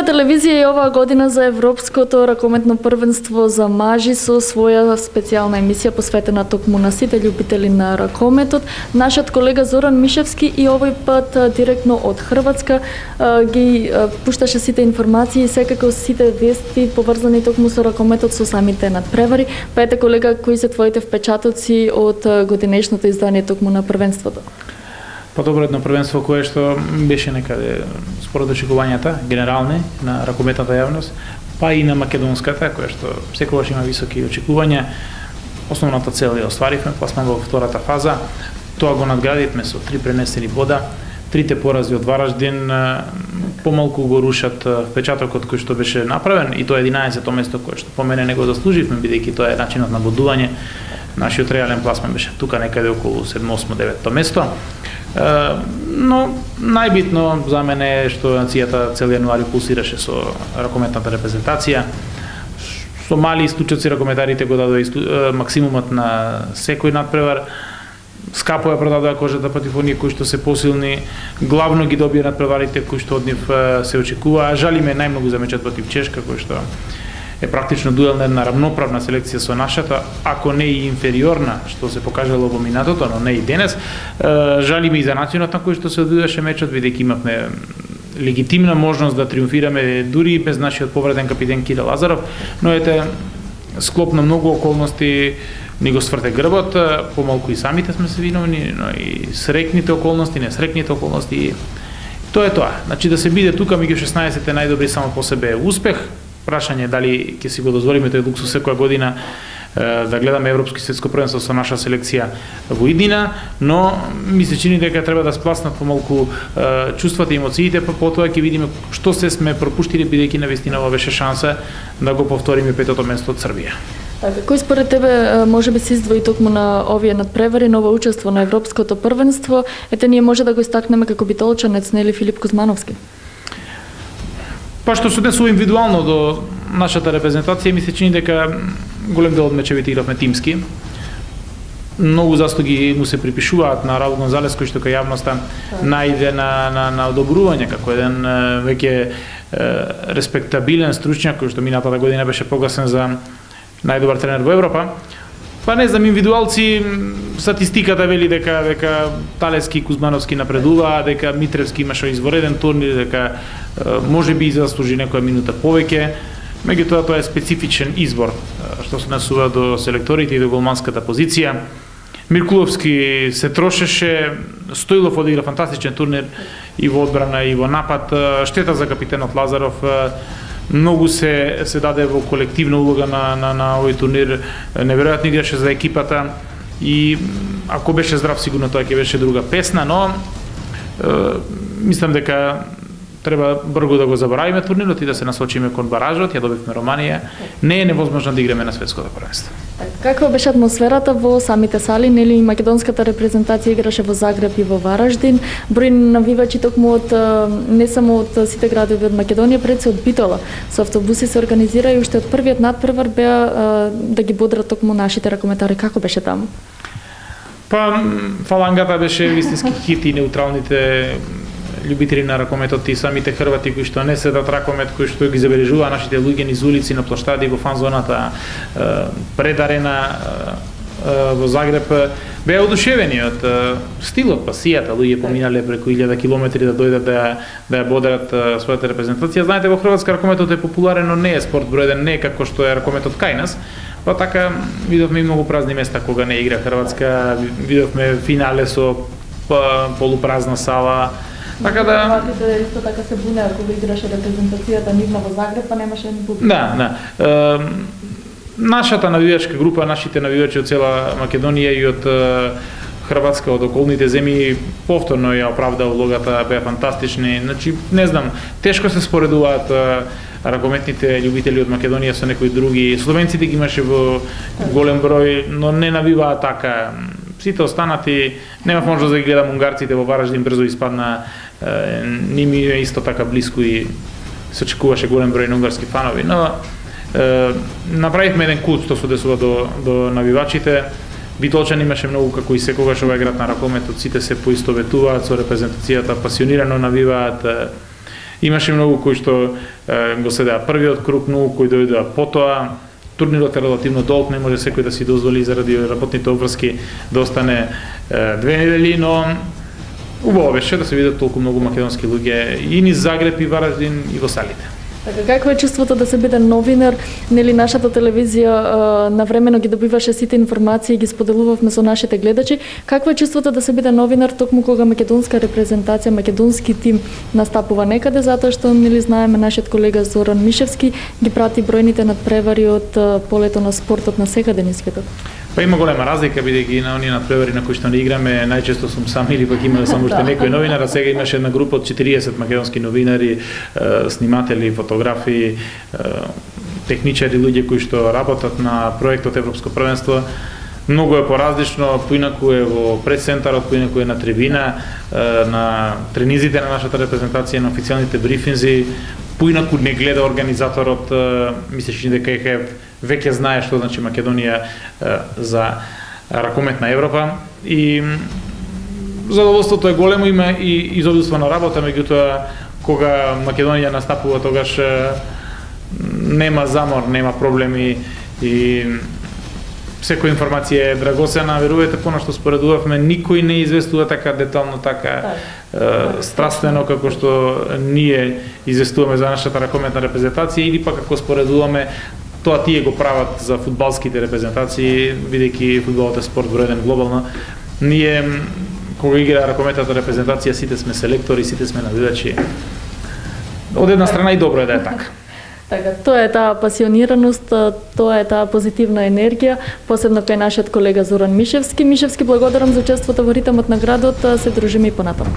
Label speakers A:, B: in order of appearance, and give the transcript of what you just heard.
A: телевизија и оваа година за Европското ракометно првенство за мажи со своја специјална емисија посветена токму на сите љубители на ракометот. Нашиот колега Зоран Мишевски и овој пат директно од Хрватска ги пушташе сите информации и секако сите вести поврзани токму со ракометот со самите надпревари. Па ете колега, кои се твоите впечатоци од годинешното издание токму на првенството?
B: Па добро, едно првенство кое што беше некаде според очекувањата генерални на ракометната јавност, па и на македонската, која што секогаш има високи очекувања. Основната цел ја остваривме, пласман во втората фаза. Тоа го надградивме со 3 пренесени бода. Трите порази од Вараждин помалку го рушат впечатокот кој што беше направен, и тоа е 11-то место кое што по мене не го заслуживме, бидејќи тоа е начинот на бодување. Нашиот реален пласман беше тука некаде околу 7-8-9-то место. Но најбитно за мене е што нацијата цел јануари пулсираше со ракометната репрезентација. Со мали истучоци ракометарите го дадоа максимумот на секој надпревар. Скапо ја продадоа кожата против оние кои што се посилни. Главно ги добија надпреварите кои што од нив се очекува. Жалиме најмногу за мечот против Чешка, кој што е практично дуелна една рамноправна селекција со нашата, ако не и инфериорна, што се покажало во минатото, но не и денес. Жалиме и за начинот на кој што се одвиваше мечот, бидејќи имавме легитимна можност да триумфираме дури без нашиот повреден капитен Кирил Лазаров, но ете, склоп на многу околности ни го сврте грбот, помалку и самите сме се виновни, но и срекните околности, несрекните околности. Тоа е тоа. Значи да се биде тука меѓу 16-те најдобри само по себе е успех. Прашање дали ќе си го дозволиме тој луксус секоја година да гледаме европско и светско првенство со наша селекција во иднина, но ми се чини дека треба да спласнат помалку чувствата и емоциите, па потоа ќе видиме што се сме пропуштили, бидејќи навистина ова беше шанса да го повториме петото место од Србија.
A: Кој според тебе може би се издвои токму на овие надпревари, ново учество на Европското првенство? Ете, ние може да го истакнеме како битолчанец, нели Филип Кузмановски?
B: Па што се однесува индивидуално до нашата репрезентација, ми се чини дека голем дел од мечевите игравме тимски. Многу заслуги му се припишуваат на Раул Гонзалес, кој што кај јавноста најде на одобрување како еден веќе респектабилен стручњак, кој што минатата година беше прогласен за најдобар тренер во Европа. Па не знам, индивидуалци, статистиката вели дека Талески и Кузмановски напредуваа, дека Митревски имаше извореден турнир, дека може би заслужи некоја минута повеќе. Меѓутоа тоа е специфичен избор што се насува до селекторите и до голманската позиција. Миркуловски се трошеше, Стоилов одигра фантастичен турнир и во одбрана и во напад. Штета за капитенот Лазаров. Многу се даде во колективна улога на овој турнир. Неверојатно играше за екипата и ако беше здрав сигурно тоа ќе беше друга песна, но мислам дека треба брзо да го заборавиме турнирот и да се насочиме кон баражот. Ја добивме Романија. Не е невозможно да играме на светското првенство.
A: Каква беше атмосферата во самите сали? Нели македонската репрезентација играше во Загреб и во Вараждин. Број навивачи токму од не само од сите градови од Македонија, пред се од Битола. Со автобуси се организира и уште од првиот надпревар беа да ги бодрат токму нашите ракометари. Како беше таму?
B: Па фалангата беше вистински хит и неутралните љубители на ракометот и самите хрвати кои што не следат ракомет, кои што ги забележуваа нашите луѓе низ улици, на плоштади, во фан-зоната, пред арена во Загреб, беа одушевени од стилот, пасијата. Луѓе поминале преку 1000 километри да дојдат да ја бодрат својата репрезентација. Знаете, во Хрватска ракометот е популарен, но не е спорт број 1, не е како што е ракометот кај нас. Па така видовме и многу празни места кога не игра Хрватска, видовме финале со полупразна сала. Така да
A: Хрватите исто така се бунеа кога играше репрезентацијата нивна во Загреб, па немаше ни публика.
B: Да. Нашата навивачка група, нашите навивачи од цела Македонија и од Хрватска, од околните земји повторно ја оправда улогата, беа фантастични. Значи, не знам, тешко се споредуваат ракометните љубители од Македонија со некои други. Словенците ги имаше во голем број, но не навиваа така. Сите останати, немав можност да ги гледам унгарците во Вараждин, брзо испадна, ними е исто така блиску и се очекуваше голем број на унгарски фанови, но направивме еден култ што се одесува до навивачите. Битолчан имаше многу, како и секогаш овој град на ракометот, сите се поистоветуваат со репрезентацијата, пасионирано навиваат. Имаше многу кои што го следеа првиот круг, многу кои дојдоа потоа. Турнирот е релативно долг, не може секој да си дозволи заради работните обврски да остане 2 недели, но убаво беше да се видат толку многу македонски луѓе и низ Загреб и Вараждин и во салите.
A: Така, какво е чувството да се биде новинар? Нели нашата телевизија навремено ги добиваше сите информации и ги споделувавме со нашите гледачи. Какво е чувството да се биде новинар токму кога македонска репрезентација, македонски тим настапува некаде, затоа што нели знаеме нашиот колега Зоран Мишевски ги прати бројните надпревари од полето на спортот на секаде низ светот?
B: Па има голема разлика, бидејќи на оние надпревари на кои што не играме, најчесто сум сам или пак имале само уште некој новинар, а сега имаше една група од 40 македонски новинари, сниматели, фотографи, техничари, луѓе кои што работат на проектот Европско првенство. Многу е поразлично, поинаку е во пресцентарот, поинаку е на трибина, на тренизите на нашата репрезентација, на официјалните брифинзи, поинаку не гледа организаторот, мислеше дека веќе знае што значи Македонија за ракомет на Европа и задоволството е големо, има и изобилство на работа, меѓутоа кога Македонија настапува тогаш нема замор, нема проблеми и секоја информација е драгоцена. Верувате, понашто споредувавме, никој не известува така детално, така страствено како што ние известуваме за нашата ракометна репрезентација, или пак како споредуваме, тоа тие го прават за фудбалските репрезентации, бидејќи фудбалот е спорт број 1 глобално. Ние кога игра ракометната репрезентација, сите сме селектори, сите сме навидачи. Од една страна и добро е да е така.
A: Така, тоа е таа пасионираност, тоа е таа позитивна енергија, посебно кај нашиот колега Зоран Мишевски. Мишевски, благодарам за учеството во ритмот на градот, се дружиме и понатаму.